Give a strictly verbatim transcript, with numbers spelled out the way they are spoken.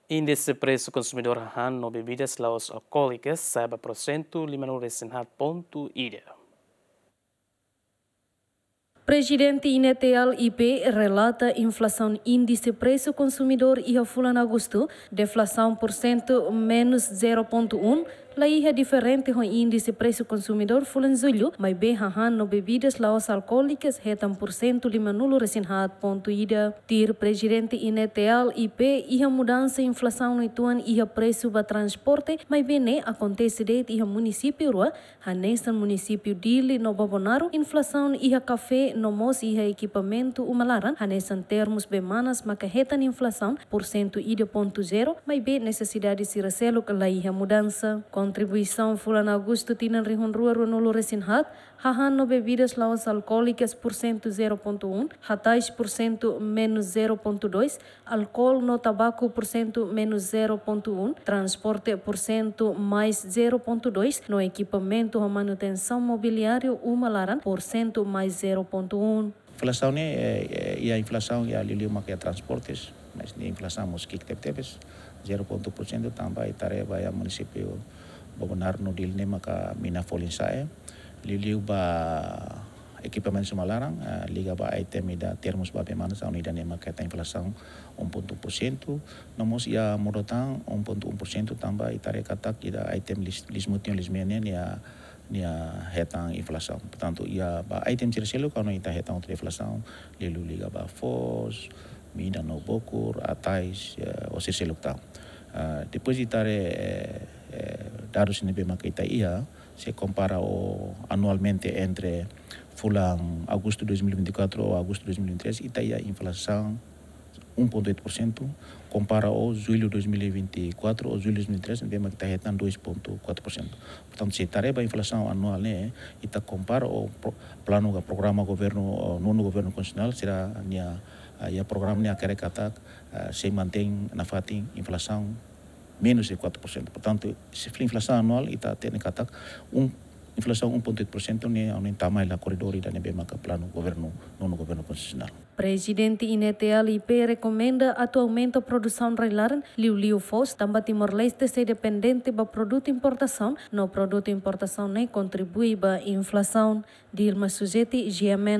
Índise presu konsumidór hahán no bebidas la'ós alkoólikas sa'e ba porsentu limanulu resin haat pontu ida. Prezidente INETL I P relata inflasaun índise presu konsumidór iha fulan Agostu, deflasaun porsentu menus zero pontu um, la iha diferente ho índise presu konsumidór fulan Jullu, maibé hahán no bebidas la'ós alkoólikas hetan porsentu limanulu resin haat pontu ida. Tuir Prezidente INETL I P, iha mudansa inflasaun uitoan iha presu ba transporte, maibé ne'e akontese de'it iha munisípiu rua, hanesan munisípiu Dili no Bobonaro, inflasaun iha kafé no mós iha ekipamentu uma laran, hanesan termus bee manas maka hetan inflasaun porsentu ida pontu zero, maibé nesesidade sira seluk la iha mudansa. Kontribuisaun fulan Agostu tinan rihun rua ruanulu resin haat, hahán no bebidas la'ós alkoólikas porsentu zero pontu um, hatais porsentu menus zero pontu dois, alkoól no tabaku porsentu menus zero pontu um, transporte porsentu mais zero pontu dois, no ekipamentu ho manutensaun mobiliáriu uma laran porsentu mais zero pontu um. Inflasaun ne'e, eh, eh, iha inflasaun iha liuliu maka iha transportes, mas ne'e inflasaun mós ki'ik tebetebes, zero pontu porsentu tanba ita haree ba iha munisípiu Bobonaro no Dili ne'e maka mina folin sa'e, liuliu ba ekipamentu uma laran, eh, liga ba item ida termus ba bee manas, aun ida-ne'e maka hetan inflasaun um pontu um porsentu, no mós iha Morotang um pontu um porsentu tanba ita haree katak ida item lis-, liis-mutin liis-mean ne'e nia, nia hetan inflasaun. Portantu, iha ba item sira seluk, aun ita hetan outro inflasaun, liuliu liga ba foos, mina no bokur, hatais, eh, ho sira seluk tan. Ah, depois ita haree, eh, eh, dadus ne'ebé maka ita iha, se kompara ho anualmente entre fulan Agostu dois mil e vinte e quatro ho Agostu dois mil e vinte e três, ita iha inflasaun um ponto oito por cento, kompara ho Jullu dois mil e vinte e quatro ho Jullu dois mil e vinte e três, ne'ebé maka ita hetan dois ponto quatro por cento. Portantu, se ita haree ba inflasaun anuál ne'e, ita kompara ho pro-, planu ka programa governu, ho nonu governu konstitusionál, sira-nia, ah, iha programa ne'e hakerek katak, ah, sei mantein nafatin inflasaun menus de quatro por cento. Portantu, se inflasaun anuál, ita hatene katak um, inflasaun um ponto oito por cento ne'e, aun ne'e tama iha koridór ida ne'ebé maka planu governu, nonu governu konstitusionál. Prezidente INETL I P rekomenda atu aumenta produsaun rai-laran, liuliu foos, tanba Timor-Leste sei dependente ba produtu importasaun, no produtu importasaun ne'e kontribui ba inflasaun. Dilma Suzeti, G M N.